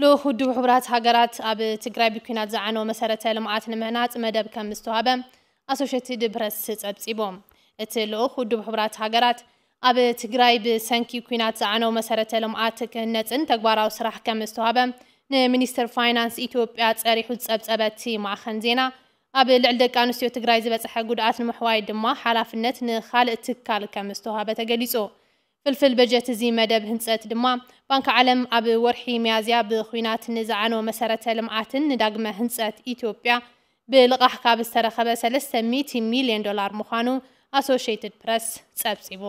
ልኡኽ ውድብ ሕቡራት ሃገራት ኣብ ትግራይ ብኲናት ዝዓነወ መሰረተ ልምዓት ንምህናፅ መደብ ከም ዝተዋህበ ኣሶሽየትድ ፕረስ ፀብፂቡ። እቲ ልኡኽ ውድብ ሕቡራት ሃገራት ኣብ ትግራይ ብሰንኪ ኲናት ዝዓነው መሰረተ ልምዓት ክህነፅን ተግባራዊ ስራሕ ከም ዝተዋህበ ንሚኒስትር ፋይናንስ ኢትዮጵያ ፀሪሑ ዝፀብፀበ እቲ ማዕኸን ዜና፣ ኣብ ልዕሊ ደቂ ኣንስትዮ ትግራይ ዝበፅሐ ጉድኣት ንምሕዋይ ድማ ሓላፍነት ንኻልእ ትካል ከም ዝተዋህበ ተገሊፁ። ፍልፍል በጀት እዚ መደብ ህንፀት ድማ ባንክ ዓለም ኣብ ወርሒ ሚያዝያ ብኹናት ንዝዓነው መሰረተ ልምዓትን ንዳግመ ህንፀት ኢትዮጵያ ብልቓሕ ካብ ዝተረኸበ ሰለስተ ሚእቲ ሚልዮን ዶላር ምዃኑ ኣሶሽየትድ ፕረስ ፀብፂቡ።